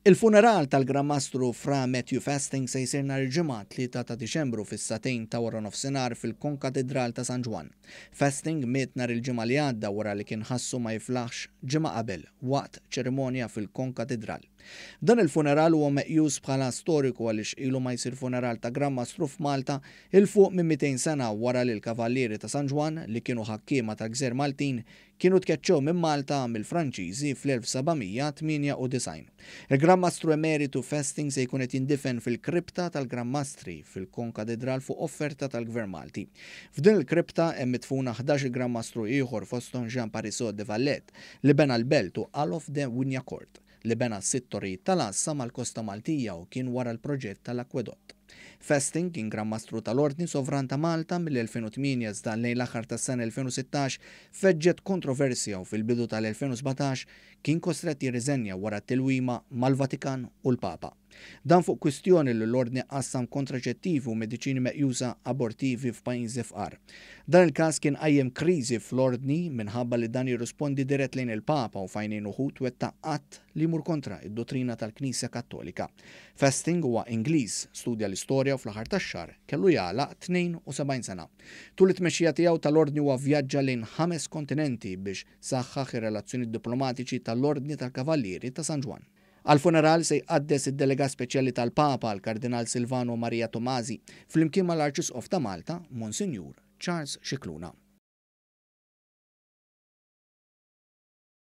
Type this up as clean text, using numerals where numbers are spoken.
Il-funeral tal-Gran Mastru Fra Matthew Festing se jsir nhar il-Ġimgħa, 3 ta' Diċembru fis-sagħtejn ta' waranofsinhar fil-Konkatidral ta' San Ġwann. Festing miet nhar il-Ġimgħa li għadda wara li kien ħassu ma jiflaħx ġimgħa qabel waqt ċerimonja fil-Konkatidral. Dan il-funeral huwa meqjus bħala storiku għaliex ilu ma jsir funeral ta' Gran Mastru f'Malta 'il fuq minn 200 sena wara li l-Kavallieri ta' San Ġwann, li kienu ħakkiema tal-gżejjer Maltin, Kienu tkeċċew minn Malta mill-Franċiżi fl-1798. Il-Gran Mastru Emeritu Festing se jkun qed jindifen fil-Kripta tal-Gran Mastri fil-Konkatidral fuq offerta tal-Gvern Malti. F'din il-kripta hemm midfuna 11-il Gran Mastru ieħor fosthom Jean Parisot de Valette li bena l-belt u Alof de Wignacourt li bena sitt torrijiet tal-għassa mal-kosta Maltija u kien wara l-proġett tal-akwedott. Festing kien Gran Mastru tal-Ordni Sovran ta' Malta mill-2008 iżda lejn l-aħħar tas-sena 2016 feġġet kontroversja u fil-bidu tal-2017 kien kostrett jirriżenja wara tilwima mal-Vatikan u l-Papa. Dan fuq kwistjoni li l-Ordni qassam kontraċettivi u mediċini meqjusa abortivi f'pajjiżi fqar. Dan il-każ kien qajjem kriżi fl-Ordni minħabba li dan jirrispondi dirett lejn il-Papa u f'għajnejn uħud wettaq att li jmur kontra d-duttrina tal-Knisja Kattolika. Festing huwa Ingliż, studja l-istorja u fl-aħħar tax-xahar kellu jagħlaq 72 sena. Tul it-tmexxija tiegħu tal-Ordni huwa vvjaġġa lejn ħames kontinenti biex saħħaħ ir-relazzjonijiet diplomatiċi tal-Ordni tal-Kavallieri ta' San Ġwann. Għall-funeral se jqaddes id-Delegat Speċjali tal-Papa, l-Kardinal Silvano Maria Tomasi, flimkien mal-Arċisqof ta' Malta, Monsinjur Charles Scicluna.